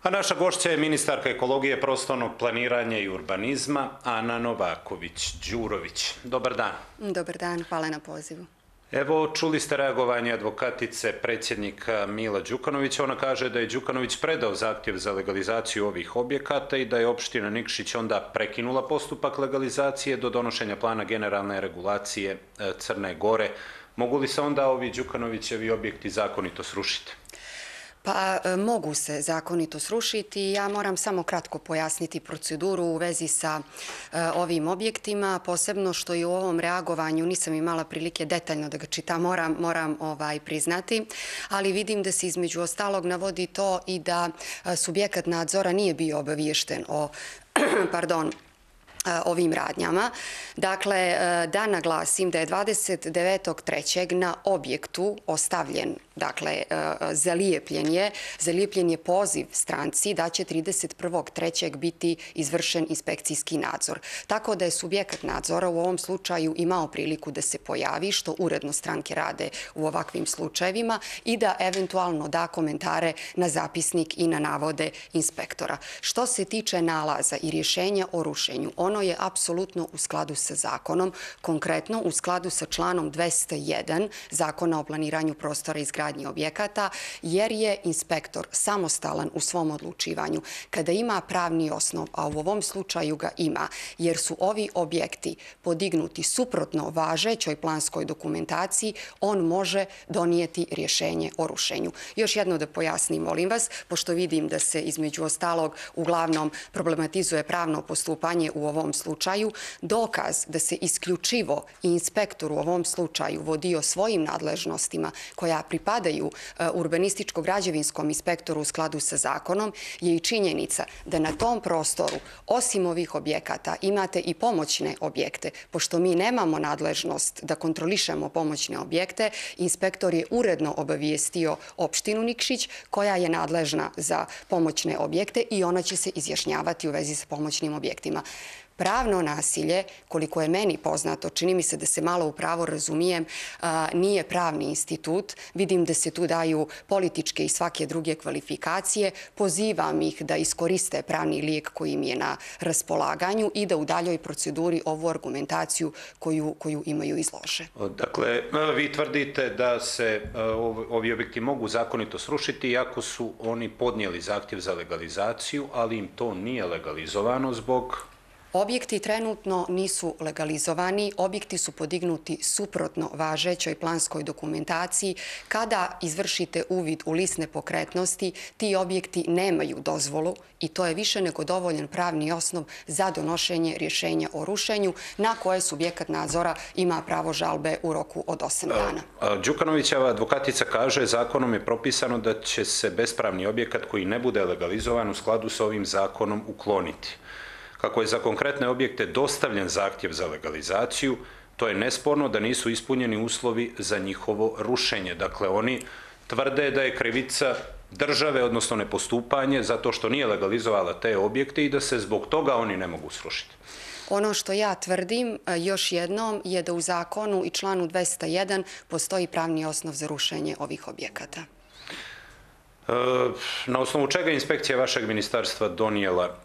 A naša gošća je ministarka ekologije, prostornog planiranja i urbanizma Ana Novaković-Đurović. Dobar dan. Dobar dan, hvala na pozivu. Evo, čuli ste reagovanje advokatice predsjednika Mila Đukanovića. Ona kaže da je Đukanović predao zahtjev za legalizaciju ovih objekata i da je opština Nikšić onda prekinula postupak legalizacije do donošenja plana generalne regulacije Crne Gore. Mogu li se onda ovi Đukanovićevi objekti zakonito srušiti? Pa mogu se zakonito srušiti. Ja moram samo kratko pojasniti proceduru u vezi sa ovim objektima, posebno što i u ovom reagovanju nisam imala prilike detaljno da ga čitam, moram priznati, ali vidim da se između ostalog navodi to i da subjekat nadzora nije bio obaviješten o ovim radnjama. Dakle, da naglasim da je 29.3. na objektu ostavljen, dakle, zalijepljen je poziv stranci da će 31.3. biti izvršen inspekcijski nadzor. Tako da je subjekat nadzora u ovom slučaju imao priliku da se pojavi, što uredno stranke rade u ovakvim slučajevima, i da eventualno da komentare na zapisnik i na navode inspektora. Što se tiče nalaza i rješenja o rušenju, ono je apsolutno u skladu sa zakonom, konkretno u skladu sa članom 201 Zakona o planiranju prostora i izgradnji objekata, jer je inspektor samostalan u svom odlučivanju. Kada ima pravni osnov, a u ovom slučaju ga ima, jer su ovi objekti podignuti suprotno važećoj planskoj dokumentaciji, on može donijeti rješenje o rušenju. Još jedno da pojasnim, molim vas, pošto vidim da se između ostalog uglavnom problematizuje pravno postupanje u ovom slučaju, dokaz da se isključivo inspektor u ovom slučaju vodio svojim nadležnostima koja pripadaju urbanističko-građevinskom inspektoru u skladu sa zakonom je i činjenica da na tom prostoru, osim ovih objekata, imate i pomoćne objekte. Pošto mi nemamo nadležnost da kontrolišemo pomoćne objekte, inspektor je uredno obavijestio opštinu Nikšić koja je nadležna za pomoćne objekte i ona će se izjašnjavati u vezi sa pomoćnim objektima. Pravno nasilje, koliko je meni poznato, čini mi se da se malo u pravo razumijem, nije pravni institut. Vidim da se tu daju političke i svake druge kvalifikacije. Pozivam ih da iskoriste pravni lijek koji im je na raspolaganju i da u daljoj proceduri ovu argumentaciju koju imaju izlože. Dakle, vi tvrdite da se ovi objekti mogu zakonito srušiti iako su oni podnijeli zahtjev za legalizaciju, ali im to nije legalizovano zbog... Objekti trenutno nisu legalizovani, objekti su podignuti suprotno važećoj planskoj dokumentaciji. Kada izvršite uvid u list nepokretnosti, ti objekti nemaju dozvolu i to je više nego dovoljan pravni osnov za donošenje rješenja o rušenju na koje subjekat nadzora ima pravo žalbe u roku od 8 dana. Đukanovićeva advokatica kaže zakonom je propisano da će se bespravni objekat koji ne bude legalizovan u skladu s ovim zakonom ukloniti. Kako je za konkretne objekte dostavljen zahtjev za legalizaciju, to je nesporno da nisu ispunjeni uslovi za njihovo rušenje. Dakle, oni tvrde da je krivica države, odnosno nepostupanje, zato što nije legalizovala te objekte i da se zbog toga oni ne mogu srušiti. Ono što ja tvrdim još jednom je da u zakonu i članu 201 postoji pravni osnov za rušenje ovih objekata. Na osnovu čega je inspekcija vašeg ministarstva donijela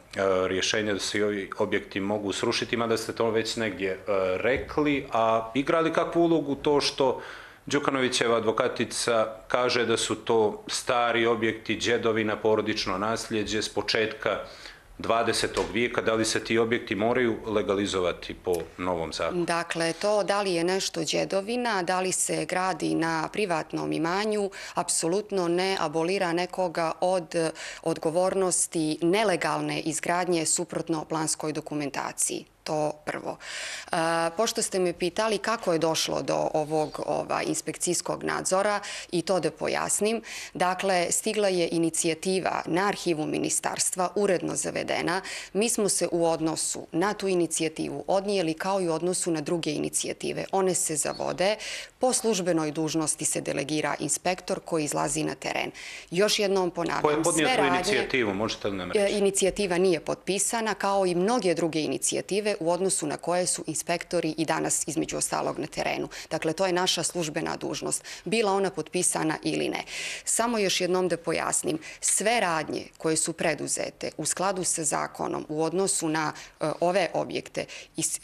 rješenje da se i ovi objekti mogu srušiti, mada ste to već negdje rekli, a igra li kakvu ulogu to što Đukanovićeva advokatica kaže da su to stari objekti, đedovina, porodično nasljeđe s početka 20. vijeka, da li se ti objekti moraju legalizovati po novom zakonu? Dakle, to da li je nešto đedovina, da li se gradi na privatnom imanju, apsolutno ne abolira nekoga od odgovornosti nelegalne izgradnje suprotno planskoj dokumentaciji. To prvo. Pošto ste me pitali kako je došlo do ovog inspekcijskog nadzora, i to da pojasnim, dakle, stigla je inicijativa na arhivu ministarstva, uredno zavedena. Mi smo se u odnosu na tu inicijativu odnijeli kao i u odnosu na druge inicijative. One se zavode, po službenoj dužnosti se delegira inspektor koji izlazi na teren. Još jednom ponavljam, ko je podnio tu inicijativu? Možete li nam reći? Inicijativa nije potpisana, kao i mnoge druge inicijative. objekte u odnosu na koje su inspektori i danas između ostalog na terenu. Dakle, to je naša službena dužnost, bila ona potpisana ili ne. Samo još jednom da pojasnim, sve radnje koje su preduzete u skladu sa zakonom u odnosu na ove objekte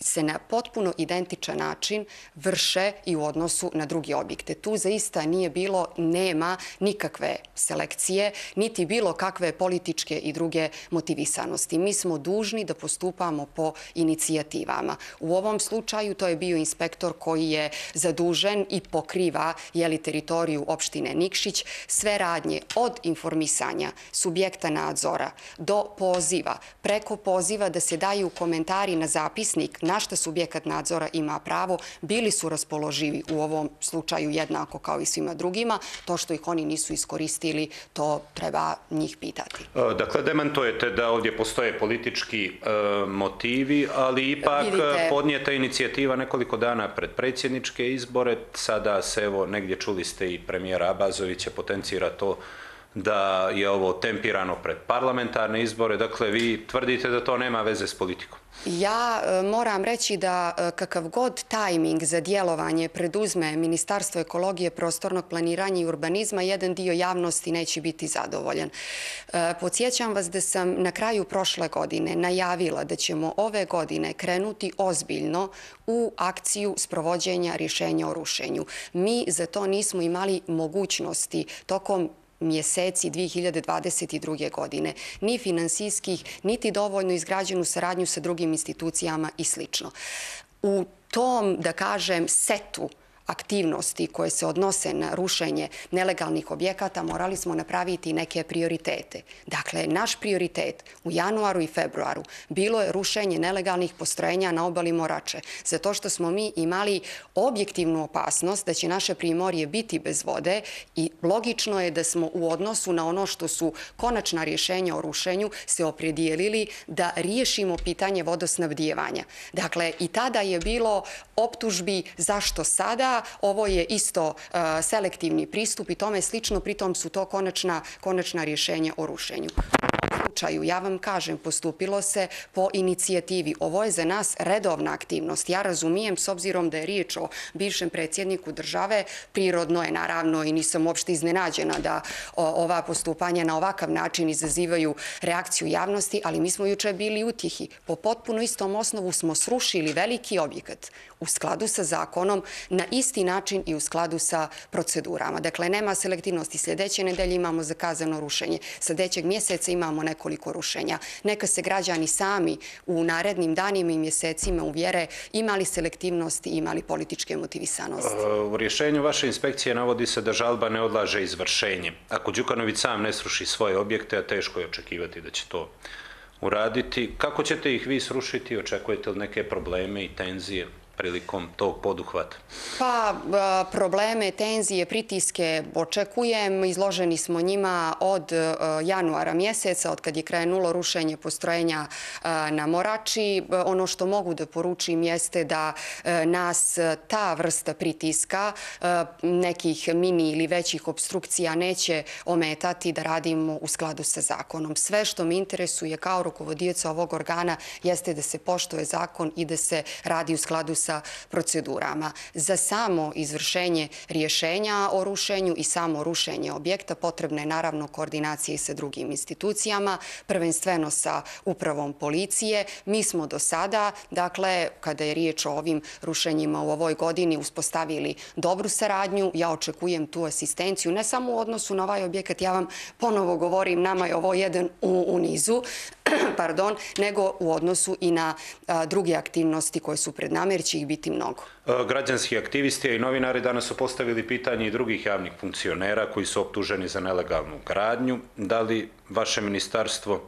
se na potpuno identičan način vrše i u odnosu na druge objekte. Tu zaista nije bilo, nema nikakve selekcije, niti bilo kakve političke i druge motivisanosti. Mi smo dužni da postupamo po inicijativama. U ovom slučaju to je bio inspektor koji je zadužen i pokriva teritoriju opštine Nikšić. Sve radnje od informisanja subjekta nadzora do poziva, preko poziva da se daju komentari na zapisnik na šta subjekat nadzora ima pravo, bili su raspoloživi u ovom slučaju jednako kao i svima drugima. To što ih oni nisu iskoristili, to treba njih pitati. Dakle, demantujete da ovdje postoje politički motivi, ali ipak podnijeta inicijativa nekoliko dana pred predsjedničke izbore. Sada se, evo, negdje čuli ste i premijera Abazovića, potencira to da je ovo tempirano pred parlamentarne izbore. Dakle, vi tvrdite da to nema veze s politikom. Ja moram reći da kakav god tajming za djelovanje preduzme Ministarstvo ekologije, prostornog planiranja i urbanizma, jedan dio javnosti neće biti zadovoljan. Podsjećam vas da sam na kraju prošle godine najavila da ćemo ove godine krenuti ozbiljno u akciju sprovođenja rješenja o rušenju. Mi za to nismo imali mogućnosti tokom mjeseci 2022. godine, ni finansijskih, niti dovoljno izgrađenu saradnju sa drugim institucijama i sl. U tom, da kažem, setu aktivnosti koje se odnose na rušenje nelegalnih objekata morali smo napraviti neke prioritete. Dakle, naš prioritet u januaru i februaru bilo je rušenje nelegalnih postrojenja na obali Morače, zato što smo mi imali objektivnu opasnost da će naše primorje biti bez vode i logično je da smo u odnosu na ono što su konačna rješenja o rušenju se opredijelili da riješimo pitanje vodosnabdijevanja. Dakle, i tada je bilo optužbi zašto sada. Ovo je isto selektivni pristup i tome slično, pritom su to konačna rješenja o rušenju. U ovom slučaju, ja vam kažem, postupilo se po inicijativi. Ovo je za nas redovna aktivnost. Ja razumijem, s obzirom da je riječ o bivšem predsjedniku države, prirodno je naravno i nisam uopšte iznenađena da ova postupanja na ovakav način izazivaju reakciju javnosti, ali mi smo juče bili utjehi. Po potpuno istom osnovu smo srušili veliki objekat u skladu sa zakonom, na isti način i u skladu sa procedurama. Dakle, nema selektivnosti. Sljedeće nedelje imamo zakazano rušenje. Sljedećeg mjeseca imamo nekoliko rušenja. Neka se građani sami u narednim danima i mjesecima uvjere imali selektivnosti i imali političke motivisanosti. U rješenju vaše inspekcije navodi se da žalba ne odlaže izvršenje. Ako Đukanović sam ne sruši svoje objekte, a teško je očekivati da će to uraditi, kako ćete ih vi srušiti? Očekujete li neke probleme i tenzije prilikom tog poduhvata? Pa, probleme, tenzije, pritiske očekujem. Izloženi smo njima od januara mjeseca, od kad je krenulo rušenje postrojenja na Morači. Ono što mogu da poručim jeste da nas ta vrsta pritiska, nekih mini ili većih obstrukcija, neće ometati da radimo u skladu sa zakonom. Sve što me interesuje kao rukovodioca ovog organa jeste da se poštuje zakon i da se radi u skladu sa procedurama. Za samo izvršenje rješenja o rušenju i samo rušenje objekta potrebna je naravno koordinacija i sa drugim institucijama, prvenstveno sa upravom policije. Mi smo do sada, dakle, kada je riječ o ovim rušenjima u ovoj godini, uspostavili dobru saradnju. Ja očekujem tu asistenciju, ne samo u odnosu na ovaj objekat, ja vam ponovo govorim, nama je ovo jedan u nizu, nego u odnosu i na druge aktivnosti koje su pred nama, jer će ih biti mnogo. Građanski aktivisti i novinari danas su postavili pitanje i drugih javnih funkcionera koji su optuženi za nelegalnu gradnju. Da li vaše ministarstvo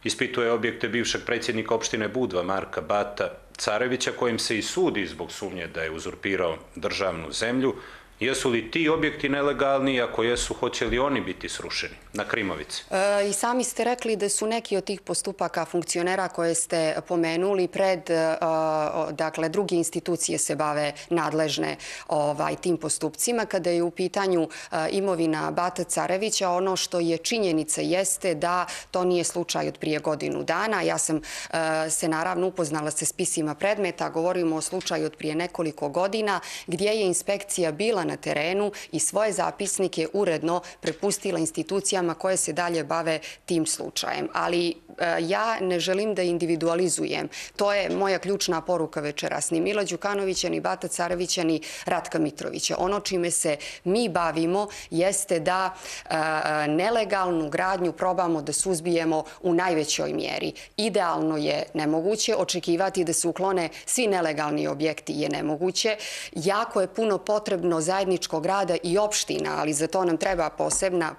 ispituje objekte bivšeg predsjednika opštine Budva, Marka Bata Carevića, kojim se i sudi zbog sumnje da je uzurpirao državnu zemlju? Jesu li ti objekti nelegalni? Ako jesu, hoće li oni biti srušeni? na Krimovici? I sami ste rekli da su neki od tih postupaka funkcionera koje ste pomenuli dakle, druge institucije se bave nadležne tim postupcima. Kada je u pitanju imovina Bata Carevića, ono što je činjenica jeste da to nije slučaj od prije godinu dana. Ja sam se naravno upoznala sa spisima predmeta, govorimo o slučaju od prije nekoliko godina gdje je inspekcija bila na terenu i svoje zapisnike uredno prepustila institucijama koje se dalje bave tim slučajem. Ali ja ne želim da individualizujem. To je moja ključna poruka večeras. Ni Mila Đukanovića, ni Bata Carevića, ni Ratka Mitrovića. Ono čime se mi bavimo jeste da nelegalnu gradnju probamo da suzbijemo u najvećoj mjeri. Idealno je nemoguće, očekivati da se uklone svi nelegalni objekti je nemoguće. Jako je puno potrebno zajedničkog rada i opština, ali za to nam treba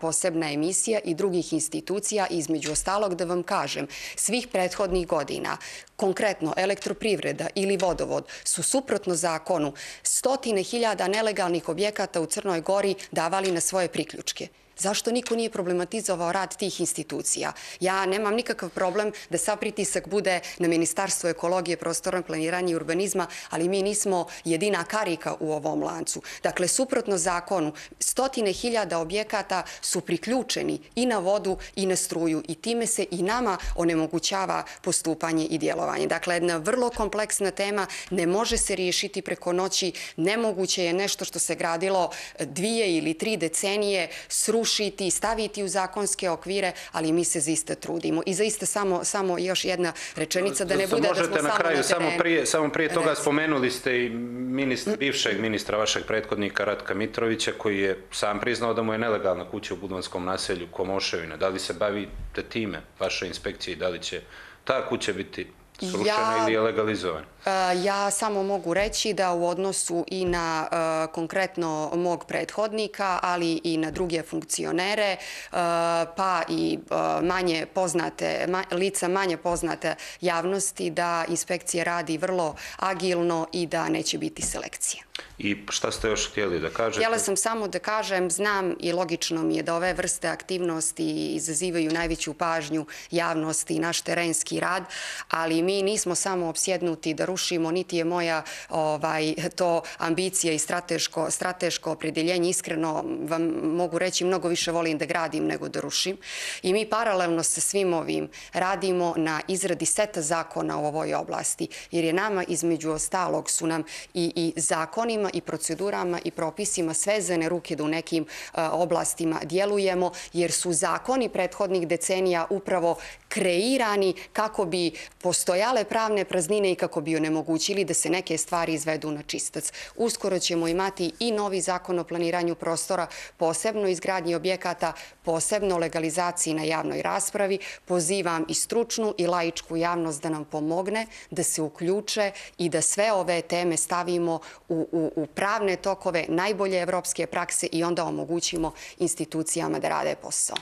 posebna emisija i drugih institucija. Između ostalog da vam kažem, svih prethodnih godina, konkretno elektroprivreda ili vodovod, su suprotno zakonu stotine hiljada nelegalnih objekata u Crnoj Gori davali na svoje priključke. Zašto niko nije problematizovao rad tih institucija? Ja nemam nikakav problem da sav pritisak bude na Ministarstvo ekologije, prostornog planiranja i urbanizma, ali mi nismo jedina karika u ovom lancu. Dakle, suprotno zakonu, stotine hiljada objekata su priključeni i na vodu i na struju i time se i nama onemogućava postupanje i djelovanje. Dakle, jedna vrlo kompleksna tema, ne može se riješiti preko noći, nemoguće je nešto što se gradilo 2 ili 3 decenije srušiti, staviti u zakonske okvire, ali mi se zaista trudimo. I zaista samo još jedna rečenica da ne bude da smo samo na terenu. Samo prije toga spomenuli ste i bivšeg ministra vašeg prethodnika Ratka Mitrovića koji je sam priznao da mu je nelegalna kuća u Budvanskom naselju Komoševina. Da li se bavite time, vaša inspekcija, i da li će ta kuća biti srušena ili je legalizovana? Ja samo mogu reći da u odnosu i na konkretno mog prethodnika, ali i na druge funkcionere, pa i lica manje poznate javnosti, da inspekcija radi vrlo agilno i da neće biti selekcije. I šta ste još htjeli da kažete? Htjela sam samo da kažem, znam i logično mi je da ove vrste aktivnosti izazivaju najveću pažnju javnosti i naš terenski rad, ali mi nismo samo opsjednuti da rušimo, niti je moja to ambicija i strateško opredjeljenje. Iskreno vam mogu reći, mnogo više volim da gradim nego da rušim. I mi paralelno sa svim ovim radimo na izradi seta zakona u ovoj oblasti, jer je nama između ostalog su nam i zakonima i procedurama i propisima svezane ruke da u nekim oblastima djelujemo, jer su zakoni prethodnih decenija upravo kreirani kako bi postojale pravne praznine i kako bi onemogućili da se neke stvari izvedu na čistac. Uskoro ćemo imati i novi zakon o planiranju prostora, posebno izgradnji objekata, posebno legalizaciji na javnoj raspravi. Pozivam i stručnu i laičku javnost da nam pomogne, da se uključe i da sve ove teme stavimo u pravne tokove najbolje evropske prakse i onda omogućimo institucijama da rade posao.